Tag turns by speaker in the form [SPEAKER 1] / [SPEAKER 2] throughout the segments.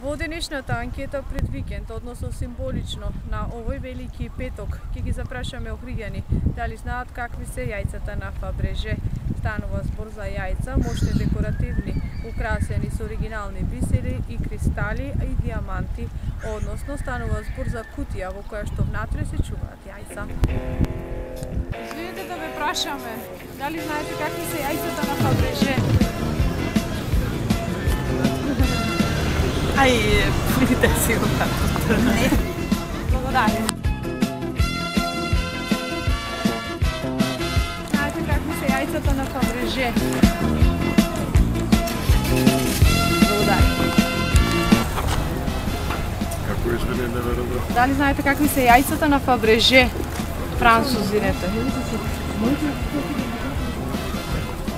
[SPEAKER 1] Во денешната анкета пред викенд, односно символично на овој велики петок, ќе ги запрашаме охриѓани дали знаат какви се јајцата на Фабреже. Станува збор за јајца, мощни декоративни, украсени со оригинални бисери и кристали и диаманти, односно станува збор за кутија во која што внатре се чуваат јајца. Извинете да ве прашаме, дали знаете какви се јајцата на Фабреже?
[SPEAKER 2] Видите си го како. Не.
[SPEAKER 1] Благодарам. Знаете какви се јајцата на Фабреже? Благодарам.
[SPEAKER 3] Како извини, не верувам.
[SPEAKER 1] Дали знаете какви се јајцата на Фабреже? Французините.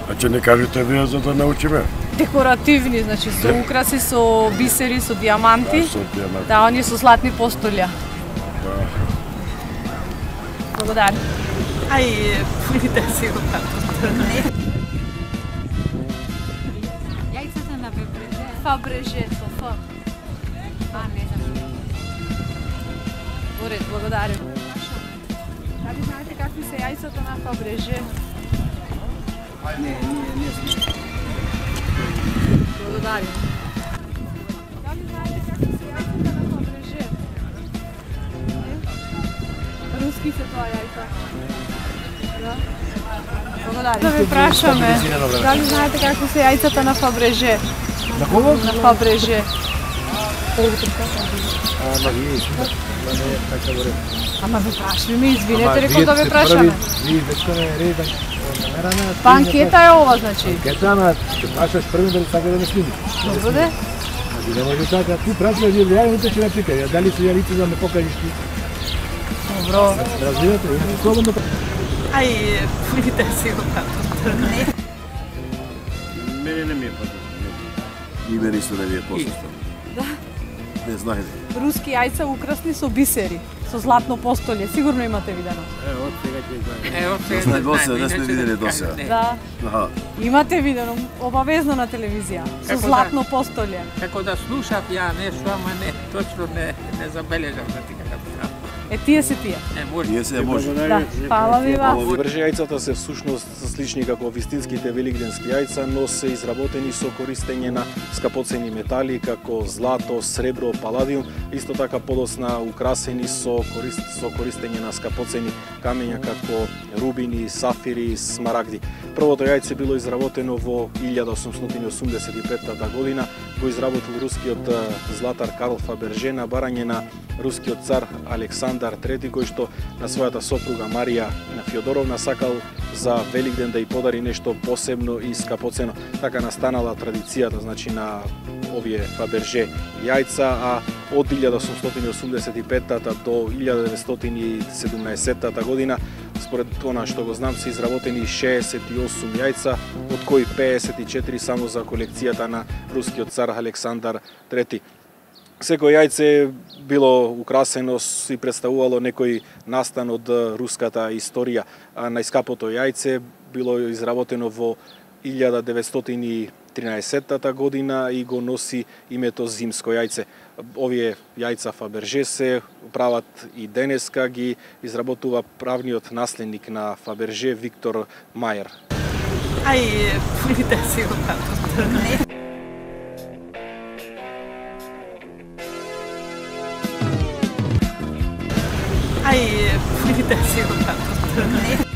[SPEAKER 3] А че не кажете вие за да научиме?
[SPEAKER 1] Декоративни, значи со украси, со бисери, со диаманти.
[SPEAKER 3] Со диаманти.
[SPEAKER 1] Да, оние со златни постолја. Благодарам.
[SPEAKER 2] Видите си го како. Не.
[SPEAKER 4] Јајцата на Фабреже.
[SPEAKER 1] Фабреже, со Ф.
[SPEAKER 4] Не знам.
[SPEAKER 1] Во ред, благодарам. Дали знаете какви се јајцата на Фабреже?
[SPEAKER 2] Не знам.
[SPEAKER 1] Благодарам. Дали знаете какви се јајцата на Фабреже? Руски се тоа јајца. Да? Благодарам. Да ве прашаме, дали знаете какви се јајцата на Фабреже?
[SPEAKER 2] На кого?
[SPEAKER 1] На Фабреже. Ама ве прашаме, извинете, рекол да ве прашаме. Па анкета е ова, значи.
[SPEAKER 5] Анкета, ама ќе прашаш први дали сака да не сними.
[SPEAKER 1] Добро де?
[SPEAKER 5] Значи не може така, ти прашаш ја јавите ќе напикај, дали се јавите за да ме покажеш ти.
[SPEAKER 1] Добро.
[SPEAKER 5] Разбирате, слободно.
[SPEAKER 2] Видите си го како. Не.
[SPEAKER 3] Мене не ми е познато. И мене исто не ми е познато.
[SPEAKER 1] Да.
[SPEAKER 3] Не знаете.
[SPEAKER 1] Руски јајца украсни со бисери, со златно постолје. Сигурно имате видено.
[SPEAKER 5] Од сега ќе знаеш.
[SPEAKER 3] Не сме видели до сега.
[SPEAKER 1] Да.
[SPEAKER 3] Аха.
[SPEAKER 1] Имате видено обавезно на телевизија, со
[SPEAKER 6] Како
[SPEAKER 1] златно постолје.
[SPEAKER 6] Како да слушав ја нешто, ама не, точно не забележав да ти како треба.
[SPEAKER 1] Тие се тие.
[SPEAKER 6] Може.
[SPEAKER 3] Ние се може.
[SPEAKER 1] Да, фала ви вас.
[SPEAKER 7] Фабреже јајцата се всушност слични како вистинските великденски јајца, но се изработени со користење на скапоцени метали како злато, сребро, паладиум, исто така подосна украсени со користење на скапоцени камења како рубини, сафири, смарагди. Првото јајце било изработено во 1885 година, го изработил рускиот златар Карл Фаберже на барање на рускиот цар Александар III, кој што на својата сопруга Марија Фјодоровна сакал за Великден да ја подари нешто посебно и скапоцено. Така настанала традицијата, значи, на овие Фаберже јајца, а од 1885 до 1917 година, според она што го знам, се изработени 68 јајца, од кои 54 само за колекцијата на рускиот цар Александар III. Секој јајце било украсено и представувало некој настан од руската историја. А најскапото јајце било изработено во 1913 година и го носи името Зимско јајце. Овие јајца Фаберже се прават и денеска, ги изработува правниот наследник на Фаберже Виктор Мајер.
[SPEAKER 2] Видите си го како. Не. Видите си го како. Не.